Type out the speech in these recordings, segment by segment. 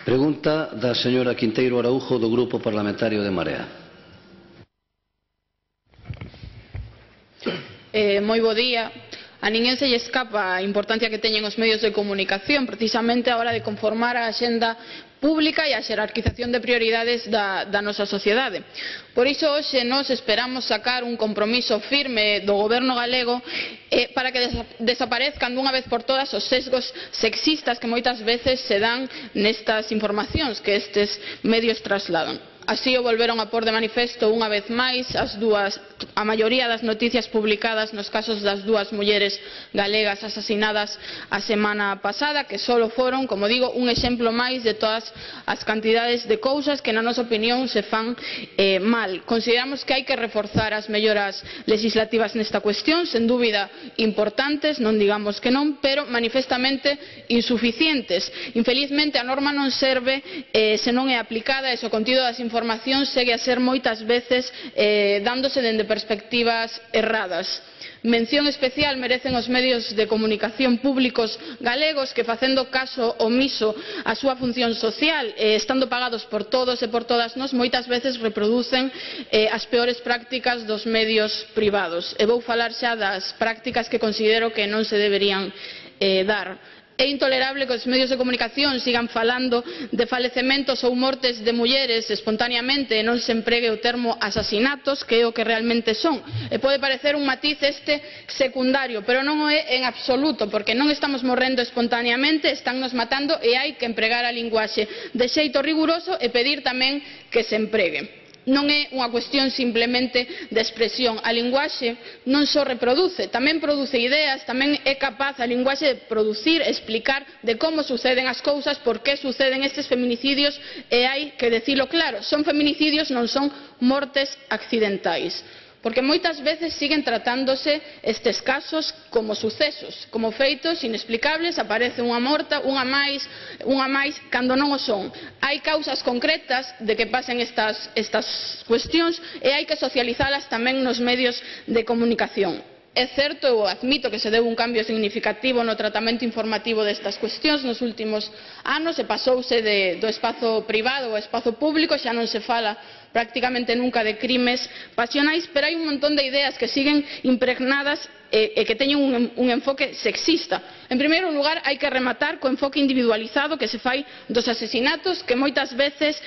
Pregunta da señora Quinteiro Araújo do Grupo Parlamentario de Marea. Moi bo día. A ninguén se lle escapa a importancia que teñen os medios de comunicación precisamente a hora de conformar a axenda pública e a xerarquización de prioridades da nosa sociedade. Por iso hoxe nós esperamos sacar un compromiso firme do goberno galego para que desaparezcan dunha vez por todas os sesgos sexistas que moitas veces se dan nestas informacións que estes medios trasladan. Así o volveron a pôr de manifesto unha vez máis a maioría das noticias publicadas nos casos das dúas mulleres galegas asasinadas a semana pasada, que só foron, como digo, un exemplo máis de todas as cantidades de cousas que na nosa opinión se fan mal. Consideramos que hai que reforzar as melloras legislativas nesta cuestión, sen dúbida importantes, non digamos que non, pero manifestamente insuficientes. Infelizmente a norma non serve se non é aplicada e se o contido das informacións segue a ser moitas veces dándose dende perspectivas erradas. Mención especial merecen os medios de comunicación públicos galegos que, facendo caso omiso á súa función social, estando pagados por todos e por todas nós, moitas veces reproducen as peores prácticas dos medios privados. E vou falar xa das prácticas que considero que non se deberían dar. É intolerable que os medios de comunicación sigan falando de falecementos ou mortes de mulleres espontaneamente e non se empregue o termo asasinatos, que é o que realmente son. E pode parecer un matiz secundario, pero non o é en absoluto, porque non estamos morrendo espontaneamente, estánnos matando e hai que empregar a linguaxe de xeito riguroso e pedir tamén que se empregue. Non é unha cuestión simplemente de expresión. A linguaxe non só reproduce, tamén produce ideas, tamén é capaz a linguaxe de producir, explicar de como suceden as cousas, por que suceden estes feminicidios, e hai que dicilo claro, son feminicidios, non son mortes accidentais. Porque moitas veces siguen tratándose estes casos como sucesos, como feitos inexplicables, aparece unha morta, unha máis, cando non o son. Hai causas concretas de que pasen estas cuestións e hai que socializalas tamén nos medios de comunicación. É certo, eu admito que se deu un cambio significativo no tratamento informativo destas cuestións nos últimos anos e pasouse do espazo privado ao espazo público, xa non se fala prácticamente nunca de crimes pasionais, pero hai un montón de ideas que siguen impregnadas e que teñen un enfoque sexista. En primeiro lugar, hai que rematar co enfoque individualizado que se fai dos asesinatos, que moitas veces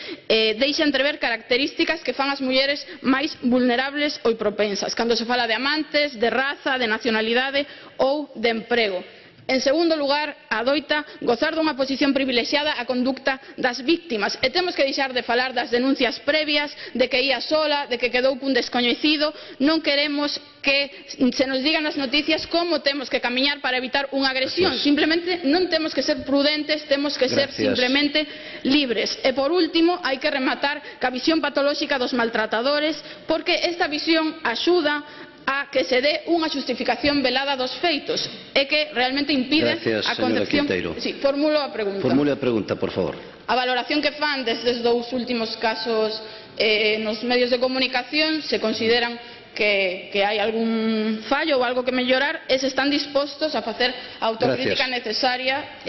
deixa entrever características que fan as mulleres máis vulnerables ou propensas, cando se fala de amantes, de raza, de nacionalidade ou de emprego. En segundo lugar, adoita gozar dunha posición privilexiada a conducta das víctimas e temos que deixar de falar das denuncias previas, de que ía sola, de que quedou cun descoñecido. Non queremos que se nos digan nas noticias como temos que camiñar para evitar unha agresión. Simplemente non temos que ser prudentes, temos que ser simplemente libres. E por último, hai que rematar ca visión patolóxica dos maltratadores, porque esta visión axuda a que se dé unha xustificación velada dos feitos e que realmente impide a concepción. Sí, formulo a pregunta. Formule a pregunta, por favor. A valoración que fan destes dous últimos casos nos medios de comunicación, se consideran que hai algún fallo ou algo que mellorar e se están dispostos a facer a autocrítica necesaria.